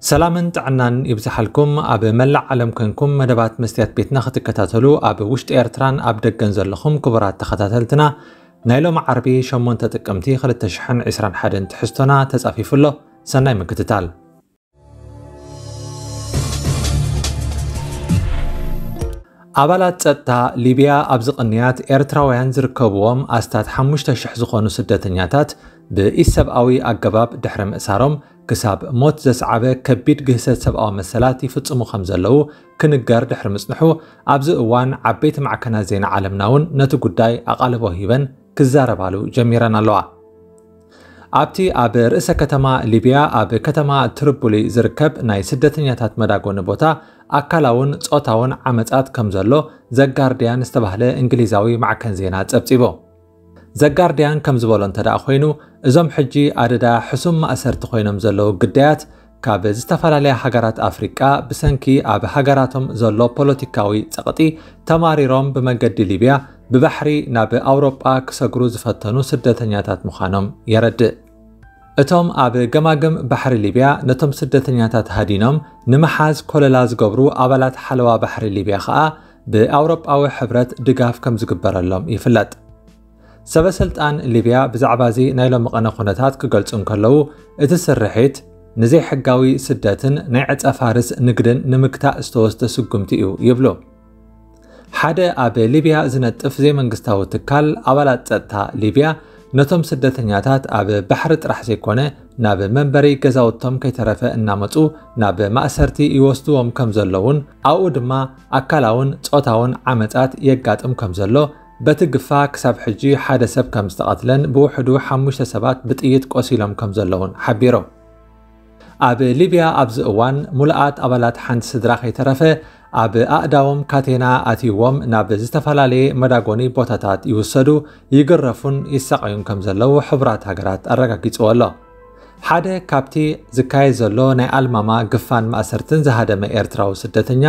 ሰላምን ጥዕናን ይብዝሓልኩም። ኣብ መላእ ዓለም ኮንኩም መደባት መስትያት ቤትና ክትከታተሉ ኣብ ውሽጢ ኤርትራን ኣብ ደገን ዘለኹም ክቡራት ተኸታተልትና፣ ናይ ሎሚ ዓርቢ ሸሞንተ ጥቅምቲ ክልተ ሽሕን ዕስራን ሓደን ትሕዝቶና ተጻፊፉ ኣሎ። ሰናይ ምክትታል። ኣባላት ጸጥታ ሊብያ ኣብዚ ቅንያት ኤርትራውያን ዝርከብዎም ኣስታት ሓሙሽተ ሽሕ ዝኾኑ ስደተኛታት ብኢሰብኣዊ ኣገባብ ድሕሪ ምእሳሮም፣ ክሳብ ሞት ዘስዓበ ከቢድ ግህሰት ሰብኣዊ መሰላት ይፍጽሙ ከም ዘለዉ ክንገር ድሕሪ ምጽንሑ፣ ኣብዚ እዋን ዓበይቲ ማዕከናት ዜና ዓለምና እውን ነቲ ጉዳይ ኣቓልቦ ሂበን ክዛረባሉ ጀሚረን ኣለዋ። ኣብቲ ኣብ ርእሰ ከተማ ሊብያ ኣብ ከተማ ትሪፖሊ ዝርከብ ናይ ስደተኛታት መዳጎኒ ቦታ ኣካላውን ጾታውን ዓመጻት ከም ዘሎ ዘጋርድያን ዝተባህለ እንግሊዛዊ ማዕከን ዜና ጸብጺቡ። ዘጋርድያን ከም ዝበሎ እንተ ደኣ ኮይኑ፣ እዞም ሕጂ ኣደዳ ሕሱም ማእሰርቲ ኮይኖም ዘለዉ ግዳያት ካብ ዝተፈላለያ ሃገራት ኣፍሪቃ ብሰንኪ ኣብ ሃገራቶም ዘሎ ፖለቲካዊ ጸቕጢ ተማሪሮም ብመገዲ ሊብያ ብባሕሪ ናብ ኣውሮጳ ክሰግሩ ዝፈተኑ ስደተኛታት ምዃኖም የረድእ። እቶም ኣብ ገማግም ባሕሪ ሊብያ ነቶም ስደተኛታት ሃዲኖም ንምሓዝ ኮለላ ዝገብሩ ኣባላት ሓለዋ ባሕሪ ሊብያ ከኣ ብኣውሮጳዊ ሕብረት ድጋፍ ከም ዝግበረሎም ይፍለጥ። ሰበ ስልጣን ሊብያ ብዛዕባ እዚ ናይ ሎሚ ቀነ ኩነታት ክገልጹ እንከለዉ፣ እቲ ስርሒት ንዘይሕጋዊ ስደትን ናይ ዕጸ ፋርስ ንግድን ንምግታእ ዝተወስደ ስጉምቲ እዩ ይብሉ። ሓደ ኣብ ሊብያ ዝነጥፍ ዘይመንግስታዊ ትካል ኣባላት ጸጥታ ሊብያ ነቶም ስደተኛታት ኣብ ባሕሪ ጥራሕ ዘይኮነ ናብ መንበሪ ገዛውቶም ከይተረፈ እናመጹ ናብ ማእሰርቲ ይወስድዎም ከም ዘለውን ኣብኡ ድማ ኣካላውን ጾታውን ዓመጻት የጋጥም ከም ዘሎ፣ በቲ ግፋ ክሳብ ሕጂ ሓደ ሰብ ከም ዝተቐትለን ብውሕዱ ሓሙሽተ ሰባት ብጥይት ቆሲሎም ከም ዘለውን ሓቢሮም። ኣብ ሊብያ ኣብዚ እዋን ሙሉኣት ኣባላት ሓንቲ ስድራ ከይተረፈ ኣብ ኣእዳዎም ካቴና ኣትይዎም ናብ ዝተፈላለየ መዳጎኒ ቦታታት ይውሰዱ፣ ይግረፉን ይሳቐዩን ከም ዘለዉ ሕቡራት ሃገራት ኣረጋጊጽዎ ኣሎ። ሓደ ካብቲ ዝካየድ ዘሎ ናይ ኣልማማ ግፋን ማእሰርትን ዝሃደመ ኤርትራዊ ስደተኛ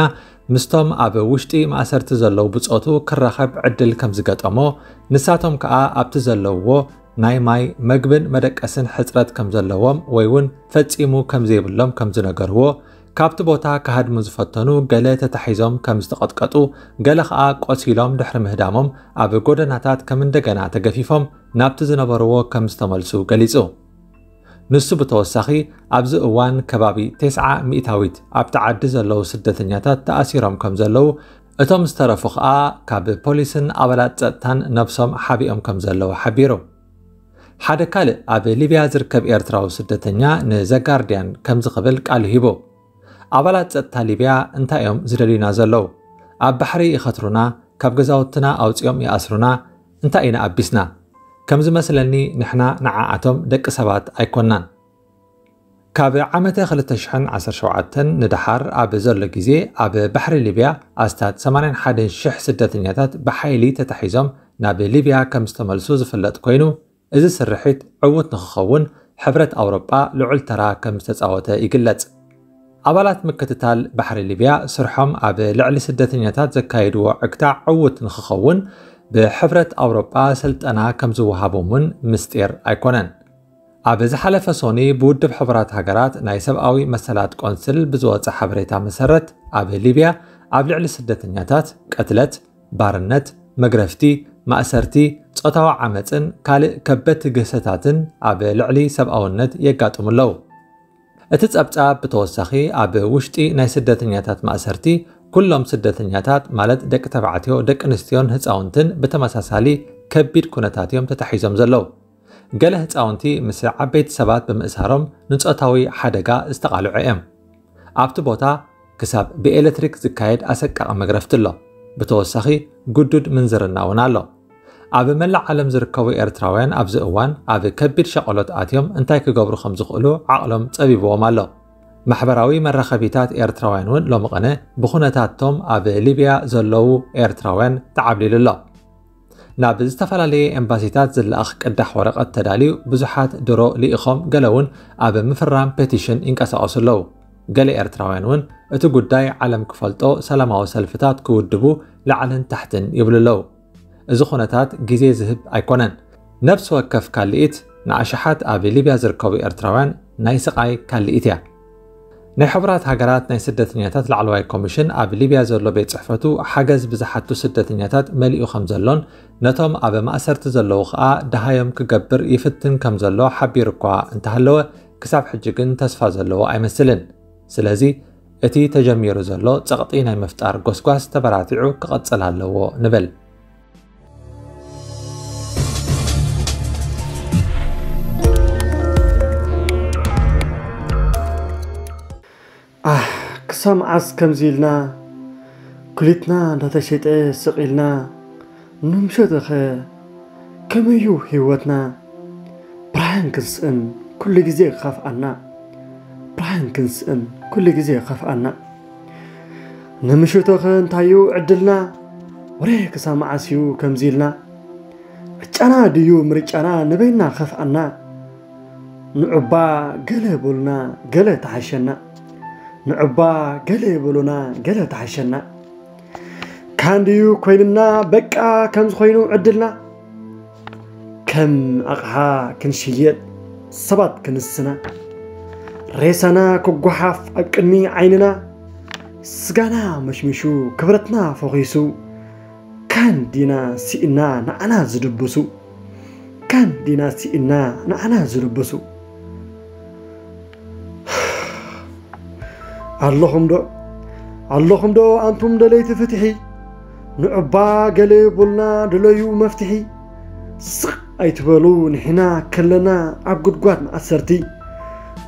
ምስቶም ኣብ ውሽጢ ማእሰርቲ ዘለዉ ብጾቱ ክራኸብ ዕድል ከም ዝገጠሞ፣ ንሳቶም ከኣ ኣብቲ ዘለውዎ ናይ ማይ፣ መግብን መደቀስን ሕጽረት ከም ዘለዎም ወይ እውን ፈጺሙ ከም ዘይብሎም ከም ዝነገርዎ፣ ካብቲ ቦታ ክሃድሙ ዝፈተኑ ገለ ተታሒዞም ከም ዝተቐጥቀጡ፣ ገለ ከኣ ቆሲሎም ድሕሪ ምህዳሞም ኣብ ጎደናታት ከም እንደገና ተገፊፎም ናብቲ ዝነበርዎ ከም ዝተመልሱ ገሊጹ። ንሱ ብተወሳኺ ኣብዚ እዋን ከባቢ ተስዓ ሚእታዊት ኣብቲ ዓዲ ዘለዉ ስደተኛታት ተኣሲሮም ከም ዘለዉ፣ እቶም ዝተረፉ ከኣ ካብ ፖሊስን ኣባላት ጸጥታን ነብሶም ሓቢኦም ከም ዘለዉ ሓቢሩ። ሓደ ካልእ ኣብ ሊብያ ዝርከብ ኤርትራዊ ስደተኛ ንዘጋርድያን ከምዚ ክብል ቃሉ ሂቡ። ኣባላት ጸጥታ ሊብያ እንታይ እዮም ዝደልዩና ዘለዉ? ኣብ ባሕሪ ይኸትሩና፣ ካብ ገዛውትና ኣውጺኦም ይኣስሩና፣ እንታይ ኢና ኣቢስና? ከም ዝመስለኒ ንሕና ንዓኣቶም ደቂ ሰባት ኣይኮናን። ካብ ዓመተ ክልተ ሽሕን ዓሰርተ ሸውዓተን ንደሓር ኣብ ዘሎ ግዜ ኣብ ባሕሪ ሊብያ ኣስታት ሰማንያን ሓደን ሽሕ ስደተኛታት ብሓይሊ ተታሒዞም ናብ ሊብያ ከም ዝተመልሱ ዝፍለጥ ኮይኑ፣ እዚ ስርሒት ዕዉት ንኽኸውን ሕብረት ኣውሮጳ ልዑል ተራ ከም ዝተጻወተ ይግለጽ። ኣባላት ምክትታል ባሕሪ ሊብያ ስርሖም ኣብ ልዕሊ ስደተኛታት ዘካየድዎ ዕግታ ዕዉት ንኽኸውን ብሕብረት ኣውሮጳ ስልጠና ከም ዝወሃቦም እውን ምስጢር ኣይኮነን። ኣብ ዝሓለፈ ሶኒ ብውድብ ሕቡራት ሃገራት ናይ ሰብኣዊ መሰላት ቆንስል ብዝወጸ ሓበሬታ መሰረት፣ ኣብ ሊብያ ኣብ ልዕሊ ስደተኛታት ቅትለት፣ ባርነት፣ መግረፍቲ፣ ማእሰርቲ፣ ጾታዊ ዓመጽን ካልእ ከበድቲ ግህሰታትን ኣብ ልዕሊ ሰብኣውነት የጋጥሙ ኣለዉ። እቲ ጸብጻብ ብተወሳኺ ኣብ ውሽጢ ናይ ስደተኛታት ማእሰርቲ ኩሎም ስደተኛታት ማለት ደቂ ተባዕትዮ፣ ደቂ ኣንስትዮን ህጻውንትን ብተመሳሳሊ ከቢድ ኩነታት እዮም ተታሒዞም ዘለዉ። ገለ ህጻውንቲ ምስ ዓበይቲ ሰባት ብምእሳሮም ንጾታዊ ሓደጋ ዝተቓልዑ እዮም። ኣብቲ ቦታ ክሳብ ብኤሌክትሪክ ዝካየድ ኣሰቃቒ መግረፍቲ ኣሎ። ብተወሳኺ ግዱድ ምንዝርና እውን ኣሎ። ኣብ መላእ ዓለም ዝርከቡ ኤርትራውያን ኣብዚ እዋን ኣብ ከቢድ ሸቐሎት ኣትዮም እንታይ ክገብሩ ከም ዝኽእሉ ዓቕሎም ጸቢብዎም ኣሎ። ማሕበራዊ መራኸቢታት ኤርትራውያን እውን ሎሚ ቐነ ብኹነታቶም ኣብ ሊብያ ዘለዉ ኤርትራውያን ተዓብሊሉ ኣሎ። ናብ ዝተፈላለየ ኤምባሲታት ዝለኣኽ ቅዳሕ ወረቐት ተዳልዩ ብዙሓት ድሮ ልኢኾም፣ ገለ እውን ኣብ ምፍራም ፔቲሽን ይንቀሳቐሱ ኣለዉ። ገለ ኤርትራውያን እውን እቲ ጉዳይ ዓለም ክፈልጦ ሰላማዊ ሰልፍታት ክውድቡ ላዕልን ታሕትን ይብሉ ኣለዉ። እዚ ኩነታት ግዜ ዝህብ ኣይኮነን። ነፍሲ ወከፍ ካልኢት ንኣሽሓት ኣብ ሊብያ ዝርከቡ ኤርትራውያን ናይ ስቓይ ካልኢት እያ። ናይ ሕቡራት ሃገራት ናይ ስደተኛታት ላዕለዋይ ኮሚሽን ኣብ ሊብያ ዘሎ ቤት ጽሕፈቱ ሓገዝ ብዝሓቱ ስደተኛታት መሊኡ ከም ዘሎን ነቶም ኣብ ማእሰርቲ ዘለዉ ኸኣ ደሃዮም ክገብር ይፍትን ከም ዘሎ ሓቢሩ እኳ እንተሃለወ፣ ክሳብ ሕጂ ግን ተስፋ ዘለዎ ኣይመስልን። ስለዚ እቲ ተጀሚሩ ዘሎ ጸቕጢ ናይ ምፍጣር ጎስጓስ ተበራቲዑ ክቐጽል ኣለዎ ንብል። ኣህ፣ ክሳብ መዓስ ከምዚ ኢልና ኩሊትና እንዳተሸጠ ስቕ ኢልና ንምሸተኸ ከመዩ ህይወትና? ብርሃን ክንስእን ኩሉ ግዜ ክኸፍኣና፣ ብርሃን ክንስእን ኩሉ ግዜ ክኸፍኣና። ንምሸተኸ እንታዩ ዕድልና? ወረ ክሳብ መዓስ እዩ ከምዚ ኢልና? ዕጫና ድዩ ምርጫና ንበይና ከፍኣና? ንዑባ ገለ በሉና ገለ ተሓሸና፣ ንዑባ ገለ በሉና ገለ ተሓሸና። ካን ድዩ ኮይንና በቃ ከምዚ ኮይኑ ዕድልና? ከም ኣቕሓ ክንሽየጥ ሰባት ክንስና፣ ሬሳና ክጓሓፍ ኣብ ቅድሚ ዓይንና፣ ስጋና መሽሚሹ ክብረትና ፈኺሱ፣ ካን ዲና ስኢና ንዓና ዝድብሱ፣ ካን ዲና ስኢና ንዓና ዝድብሱ። ኣለኹም ዶ? ኣለኹም ዶ ኣንቱም ደለይቲ ፍትሒ? ንዑባ ገለ በሉና ደለዩ መፍትሒ። ስቕ ኣይትበሉ ንሕና ከለና ኣብ ጉድጓድ መኣሰርቲ።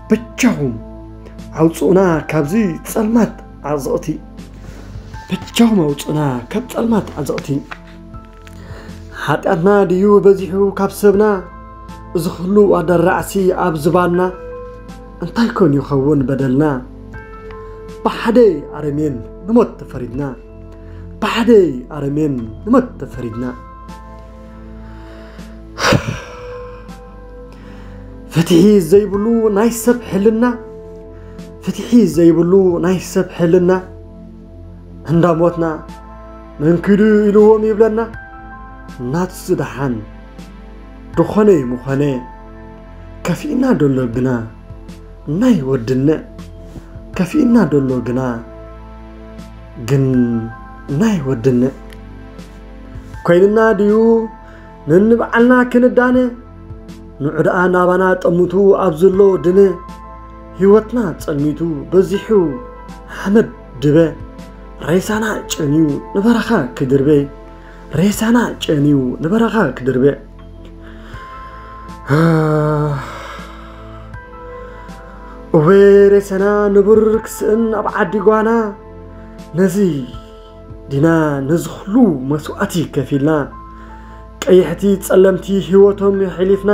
በጃኹም ኣውጽኡና ካብዚ ጸልማት ዓዘቕቲ። በጃኹም ኣውጽኡና ካብ ጸልማት ዓዘቕቲ። ሓጢኣትና ድዩ በዚሑ ካብ ሰብና? እዚ ኹሉ ኣደራዕሲ ኣብ ዝባንና። እንታይ ኮን ይኸውን በደልና? ብሓደ ኣረሜን ንሞት ተፈሪድና። ብሓደ ኣረሜን ንሞት ተፈሪድና። ፍትሒ ዘይብሉ ናይ ሰብ ሕልና፣ ፍትሒ ዘይብሉ ናይ ሰብ ሕልና። እንዳሞትና መንኪዱ ኢልዎም ይብለና። ናትሱ ደሓን ድኾነ ይምኾነ፣ ከፊእና ደሎ ግና ናይ ወድነ። ከፊእና ደሎ ግና ግን ናይ ወድነ። ኮይንና ድዩ ንንብዓልና ክንዳነ? ንዑ ደኣ ናባና ጠምቱ ኣብ ዘሎ ድነ። ህይወትና ጸልሚቱ በዚሑ ሓመድ ድበ። ሬሳና ጨንዩ ንበረኻ ክድርበ። ሬሳና ጨንዩ ንበረኻ ክድርበ። እወ ሬሳና ንቡር ክስእን ኣብ ዓዲ ጓና። ነዚ ዲና ነዚ ኹሉ መስዋእቲ ከፊልና፣ ቀይሕቲ ጸለምቲ ህይወቶም የሕሊፍና።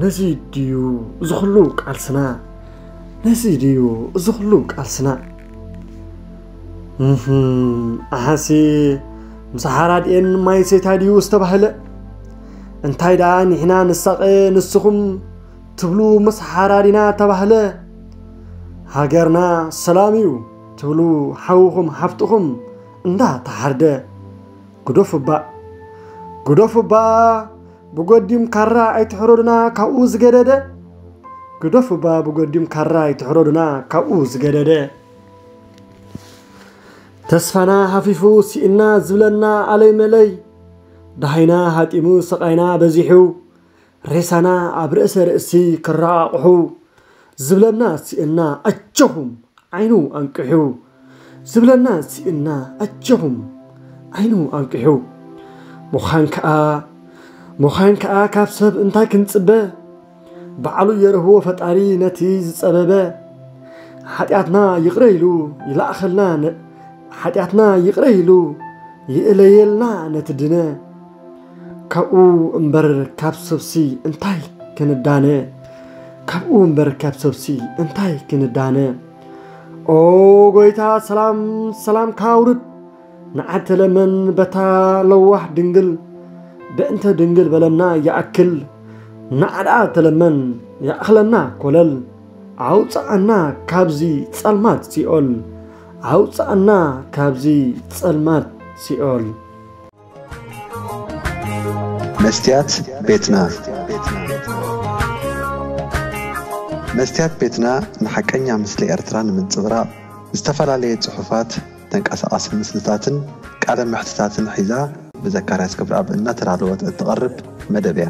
ነዚ ድዩ እዚ ኹሉ ቃልስና? ነዚ ድዩ እዚ ኹሉ ቃልስና? እህም፣ ኣሓሲ ምስ ሓራድኤን ማይ ሰይታ ድዩ ዝተባህለ? እንታይ ደኣ ንሕና ንሳቐ ንስኹም ትብሉ ምስ ሓራዲና ተባህለ? ሃገርና ሰላም እዩ ትብሉ ሓውኹም ሓፍትኹም እንዳ ተሓርደ። ግደፉ እባ፣ ግደፉ እባ፣ ብጎዲም ካራ ኣይትሕረዱና ካብኡ ዝገደደ። ግደፉ እባ፣ ብጎዲም ካራ ኣይትሕረዱና ካብኡ ዝገደደ። ተስፋና ሃፊፉ ስኢና ዝብለና ኣለይ መለይ። ደሃይና ሃጢሙ ስቓይና በዚሑ። ሬሳና ኣብ ርእሰ ርእሲ ክረቓቕሑ። ዝብለና ስኢና ኣጆኹም ዓይኑ ኣንቅሑ። ዝብለና ስኢና ኣጆኹም ዓይኑ ኣንቅሑ። ምዃን ከኣ፣ ምዃን ከኣ ካብ ሰብ እንታይ ክንጽበ? ባዕሉ የርህቦ ፈጣሪ ነቲ ዝጸበበ። ሓጢኣትና ይቕረ ኢሉ ይልኣኸልና ነ-፣ ሓጢኣትና ይቕረ ኢሉ ይእለየልና ነቲ ድነ። ካብኡ እምበር ካብ ሰብሲ እንታይ ክንዳነ? ካብኡ እምበር ካብ ሰብሲ እንታይ ክንዳነ? ኦ ጎይታ ሰላም ሰላምካ ኣውርድ። ንዓተለመን በታ ለዋህ ድንግል፣ ብእንተ ድንግል በለና ይኣክል። ንዓኣ ተለመን ይኣኽለና ኮለል። ኣውጽኣና ካብዚ ጸልማት ሲኦል፣ ኣውጽኣና ካብዚ ጸልማት ሲኦል። መስትያት ቤትና። መስትያት ቤትና ንሓቀኛ ምስሊ ኤርትራ ንምንጽብራቕ ዝተፈላለየ ጽሑፋት፣ ተንቀሳቓሲ ምስልታትን ቃለ መሕትታትን ሒዛ ብዘካርያስ ክብረኣብ እናተዳለወት እትቐርብ መደብ እያ።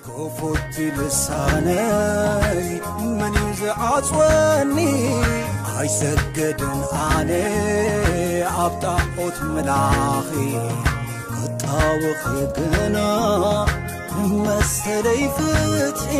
ክፉት ልሳነይ መን እዩ ዝዓጽወኒ? ኣይሰገድን ኣነ ኣብ ጣዖት ምላኺ ክጣወኺ ግና መሰለይ ፍትሒ።